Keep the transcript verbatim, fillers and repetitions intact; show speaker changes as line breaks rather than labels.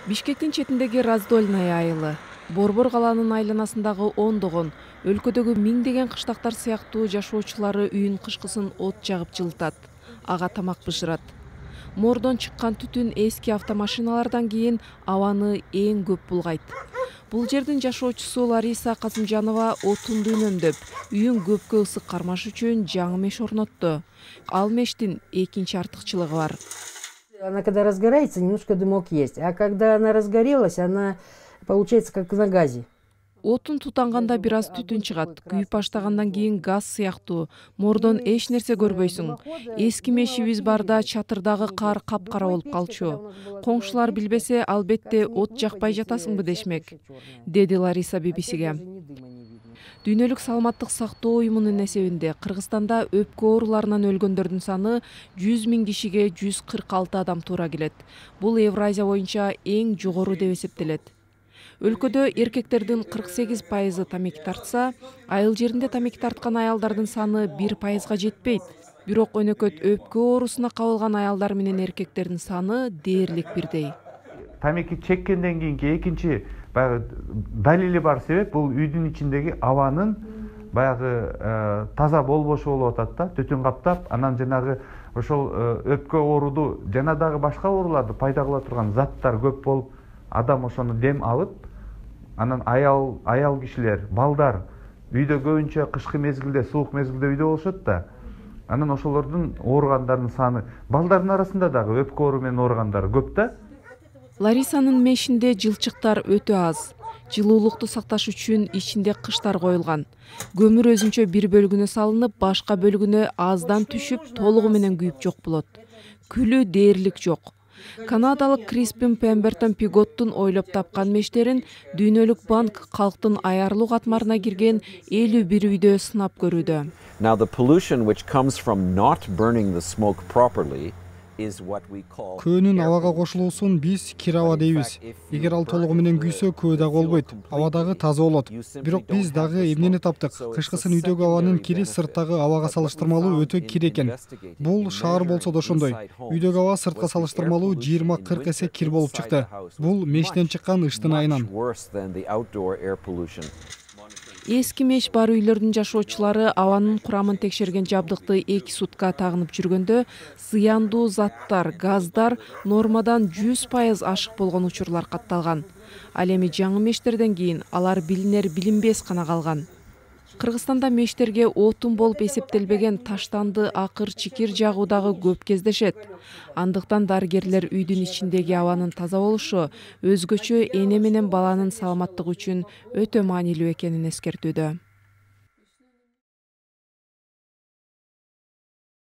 Бишкектин четиндеги Раздольная айылы. Борбор калаанын айланасындагы ондогон, өлкөдөгү миңдеген кыштактар сыяктуу жашоочулары үйүн кышкысын от жагып жылытат, ага тамак бышырат. Мордон чыккан түтүн эски автомашиналардан кийин абаны эң көп булгайт. Бул жердин жашоочусу Лариса Казымжанова отунду үнөмдөп, үйүн көпкө ысык кармаш үчүн жаңы меш орнотту. Ал мештин экинчи артыкчылыгы бар.
Она когда разгорается, немножко дымок есть, а когда она разгорелась, она получается как на газе.
Отун тутанганда бир аз түтүн чыгат. Күйүп баштагандан кийин газ сыяктуу. Мордон эч нерсе көрбөйсүң. Эски мешибиз барда чатырдагы кар капкара болуп калчу. Коңшулар билбесе, албетте от жакпай жатасыңбы дешмек, деди Лариса би би сиге. Дүйнөлүк саламаттык сактоо уюмунун эсебинде Кыргызстанда өпкө ооруларынан өлгөндөрдүн саны жүз миң кишиге жүз кырк алты адам туура келет. Бул Евразия боюнча эң жогору деп эсептелет. Өлкөдө эркектердин кырк сегиз пайызы тамеки тартса, айыл жеринде тамеки тарткан аялдардын саны бир пайызга жетпейт. Бирок өнөкөт өпкө оорусуна кабылган аялдар менен эркектердин саны дээрлик бирдей.
Тамеки чеккенден кийинки экинчи баягы далили бар себеп бул үйдүн ичиндеги абанын баягы таза болбошу болуп атат да, түтүн каптап, анан жанагы ошол өпкө ооруду жана дагы башка ооруларды пайда кыла турган заттар көп болуп, адам ошону дем алып, анан аял аял кишилер, балдар үйдө көбүнчө кышкы мезгилде, суук мезгилде үйдө болушот да. Анан ошолордун ооругандардын саны, балдардын арасында дагы өпкө оору менен ооругандар көп да.
Ларисанын мешинде жылчыктар өтө аз. Жылуулукту сакташ үчүн ичинде кыштар коюлган. Көмүр өзүнчө бир бөлүгүнө салынып, башка бөлүгүнө аздан түшүп, толугу менен күйүп жок болот. Күлү дээрлик жок. Канадалык Криспин Пембертон Пиготтун ойлоп тапкан мештерин Дүйнөлүк банк калктын аярлуу катмарына кирген элүү бир үйдө сынап көрүүдө.
Now the pollution which comes from not burning the smoke properly
көөнүн абага кошулуусун биз кир аба дейбиз. Эгер ал толугу менен күйсө, көө дагы болбойт, аба дагы таза болот. Бирок биз дагы эмнени таптык? Кышкысын үйдөгү абанын кири сырттагы абага салыштырмалуу өтө кир экен. Бул шаар болсо да ошондой. Үйдөгү аба сыртка салыштырмалуу жыйырма кырк эсе кир болуп чыкты. Бул мештен чыккан ыштын айынан.
Эски меш бар үйлөрдүн жашоочулары абанын курамын текшерген жабдыкты эки сутка тагынып жүргөндө зыяндуу заттар, газдар нормадан жүз пайыз ашык болгон учурлар катталган. Ал эми жаңы мештерден кийин алар билинер билинбес гана калган. Кыргызстанда мештерге отун болуп эсептелбеген таштанды акыр чикир жагуу дагы көп кездешет. Андыктан дарыгерлер үйдүн ичиндеги абанын таза болушу өзгөчө эне менен баланын саламаттыгы үчүн өтө маанилүү экенин эскертүүдө.